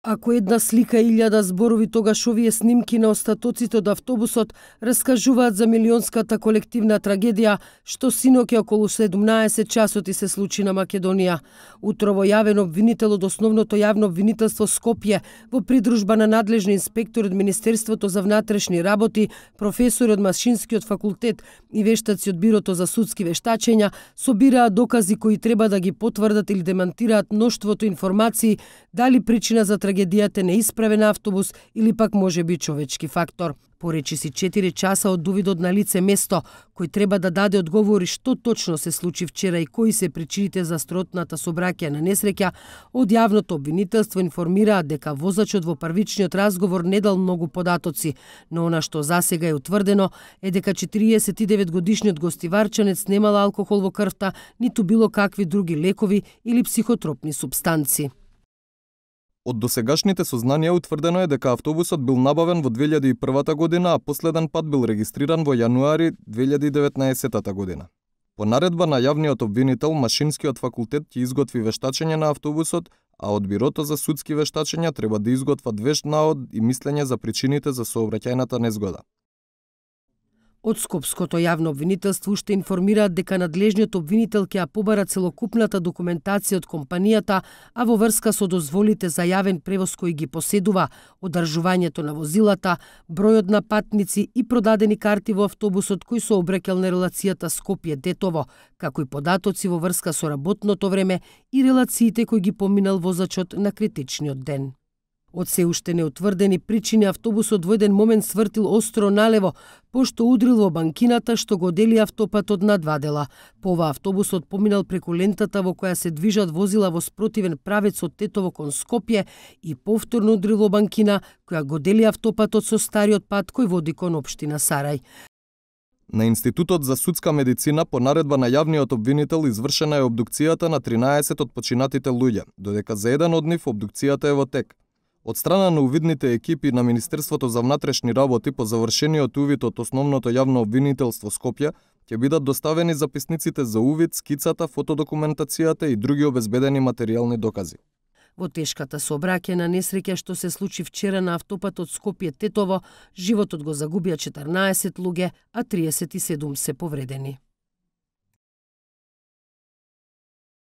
Ако една слика и 1000 зборови, тогаш овие снимки на остатоците од автобусот раскажуваат за милионската колективна трагедија што синоќа околу 17 часоти се случи на Македонија. Утрово јавен обвинител од Основното јавно обвинителство Скопје во придружба на надлежни инспектори од Министерството за внатрешни работи, професори од Машинскиот факултет и вештаци од Бирото за судски вештачења собираат докази кои треба да ги потврдат или демантираат мноштвото информации дали причина за трагедијата неисправен автобус или пак можеби човечки фактор. Поречиси 4 часа од увидот на лице место, кој треба да даде одговори што точно се случи вчера и кои се причините за стротната сообраќајна несреќа, од јавното обвинителство информираат дека возачот во првичниот разговор не дал многу податоци, но она што засега е утврдено е дека 49-годишниот гостиварчанец немал алкохол во крвта, ниту било какви други лекови или психотропни супстанци. Од досегашните сознанија утврдено е дека автобусот бил набавен во 2001 година, а последен пат бил регистриран во јануари 2019 година. По наредба на јавниот обвинител, Машинскиот факултет ќе изготви вештачење на автобусот, а од Бирото за судски вештачења треба да изготват вешт наод и мислење за причините за сообраќајната незгода. Од Скопското јавно обвинителство уште информираат дека надлежниот обвинител ќе ја побара целокупната документација од компанијата, а во врска со дозволите за јавен превоз кои ги поседува, одржувањето на возилата, бројот на патници и продадени карти во автобусот кои се обрекал на релацијата Скопје-Детово, како и податоци во врска со работното време и релациите кои ги поминал возачот на критичниот ден. Од се уште неутврдени причини автобусот во еден момент свртил остро налево, пошто удрил во банкината што го дели автопатот на два дела. По ова автобусот поминал преку лентата во која се движат возила во спротивен правец од Тетово кон Скопје и повторно удрил во банкина која го дели автопатот со стариот пат кој води кон општина Сарај. На Институтот за судска медицина по наредба на јавниот обвинител извршена е обдукцијата на 13 од починатите луѓе, додека за еден од нив обдукцијата е во тек. Од страна на увидните екипи на Министерството за внатрешни работи по завршениот увид од Основното јавно обвинителство Скопје ќе бидат доставени записниците за увид, скицата, фотодокументацијата и други обезбедени материјални докази. Во тешката сообраќајна несреќа што се случи вчера на автопатот Скопје-Тетово, животот го загубија 14 луѓе, а 37 се повредени.